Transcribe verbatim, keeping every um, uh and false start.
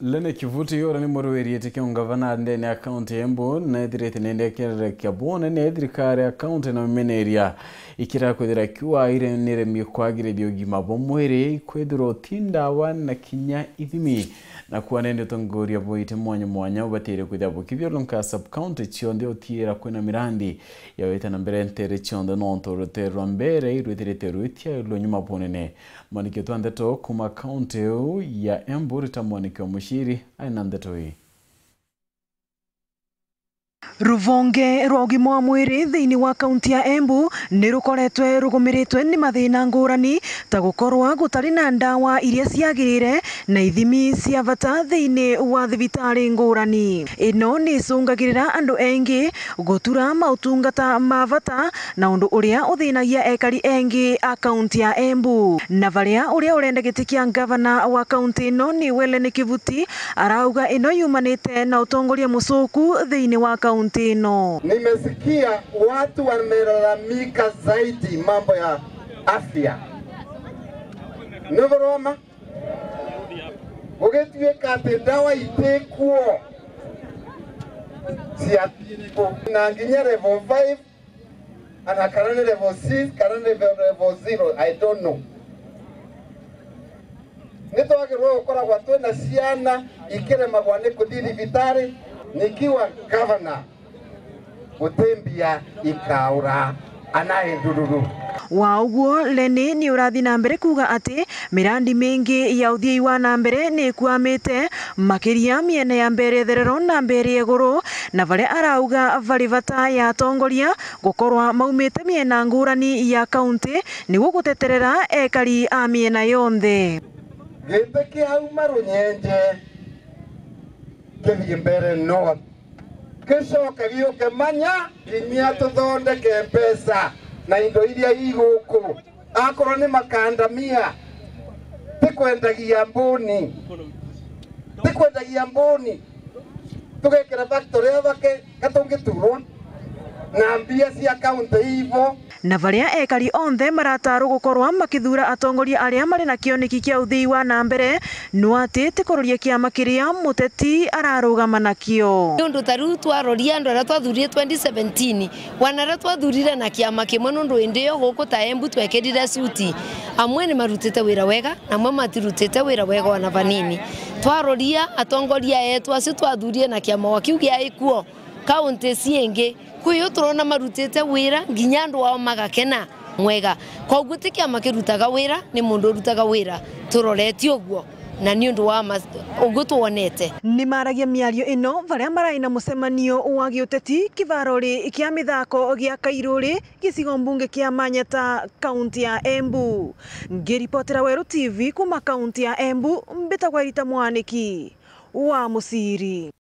Lene Kivuti uria ni murwiri iti kia ungavana ndene ya kaunti ya Embu, nethirite nende ekererekia bunene thirikari ya kaunti na mimeneria ikira kwithira kiwa ire niremie kwagiriria ugima bwa mwiri, kwithirwa uti ndawa na kinya ithimi. Na kuwa nende utongoria bwa iti mwanya mwanya ubatire kwithira bukithiurunka sub county cionthe utiira kwina mirandi ya wita na mbere ntere cionthe, nontu rutere rwa mbere irwithirite rwitiairwe nyuma bunene. Mwanikio twa ndeto kuma kaunti iu ya Embu rita mwanikio Muciri ari na ndeto ii. Ruvonge rwa ugima wa mwiri thiini wa kaunti ya Embu ni rukoretwe rugumiritwe ni mathina ngurani, ta gukorwa gutari na ndawa iria ciagirire na ithimi cia bata thiini wa thibitari ngurani. Ino ni icungagirira andu engi gutura mautungata ma bata, na undu uria uthinagia ekari engi a kaunti ya Embu. Na varia uria urenda giti kia ngavana wa kaunti ino ni Welen Kivuti, arauga ino yumanite na utongoria mucuku thiini wa kaunti ino. Nimesikia watu wamelalamika zaidi mambo ya afya. Ni buroma? Gugituika ati ndawa itikuo, ciathiri ku? Na nginya level five, ana kana ni level six, kana ni level zero, I don't know. Nitwagirwe gukoragwa twina ciana ikiremagwa ni kuthi thibitari, nikiwa governor, guti mbia ikaura ana endururu. Wa uguo, Leni ni urathi na mbere kuuga ati mirandi mingi ya uthiei wa na mbere ni ikuamite, makiria miene ya Mbeere Therero na Mbeere Iguru, na varia arauga vari bata ya atongoria gukorwa maumite miena ngurani ya kaunti niguo guteterera ekari a miena yonthe. Giti kiauma Runyenje kithii Mbeere North, gicoke giuke Manya, kinya tuthondeke mbeca na indo iria iguku. Akorwo ni makandamia, tikwendagia mbuni, tikwendagia mbuni, tugekira factory ya bake gatungiturwa na mbia cia kaunti ivo. Na varia ekari onthe maratarwo gukorwa makithuura atongoria aria mari na kioneki kia uthii wa na mbere, no ati ti kuroria kiama kiria muteti ararugama nakio. Niundu ta riu twaroria andu aria twathuurire twenty seventeen, wana aria twathuurire na kiama kimwe, nundu indi iyo guku ta Embu twekirire suti, amwe ni marutite wira wega, na amwe matirutite wira wega ona vanini. Twaroria atongoria eetu acio twathuurire na kiama o kiu giaikuo, kaunti ciingi, kwi o turona marutite wira, nginya andu ao magakena mwega. Koguo ti kiama kirutaga wira, ni mundu urutaga wira. Turoretie uguo, na ni undu wa ma-, uguo twonete. Ni maragia miario ino varia marai na mucemanio wa giuteti kivarori kia mithako gia Kairuri, gicigo mbunge kia Manyata, kaunti ya Embu. Ngiripotera Weru T V kuma kaunti ya Embu, mbitagwa Rita Mwaniki wa Muciri.